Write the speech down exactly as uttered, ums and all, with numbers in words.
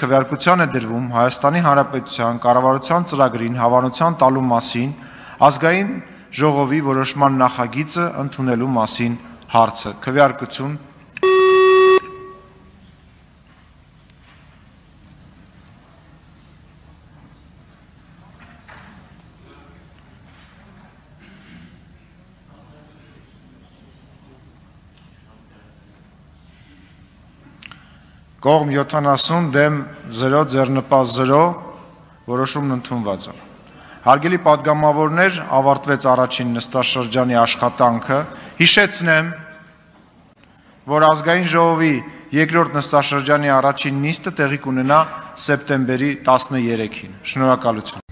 Քվեարկության է դրվում Հայաստանի Հանրապետության կառավարության ծրագրին հավանության տալու մասին ազգային ժողովի որոշման նախագիծը ընդունելու մասին հարցը։ Քվեարկություն։ Կողմ յոթանասուն դեմ զրո ձեռնպաստ զրո որոշումն ընդունված է։ Հարգելի պատգամավորներ, ավարտվեց առաջին նստաշրջանի աշխատանքը։ Հիշեցնեմ, որ ազգային ժողովի երկրորդ նստաշրջանի առաջին նիստը տեղի կունենա սեպտեմբերի տասներեքին։ Շնորհակալություն։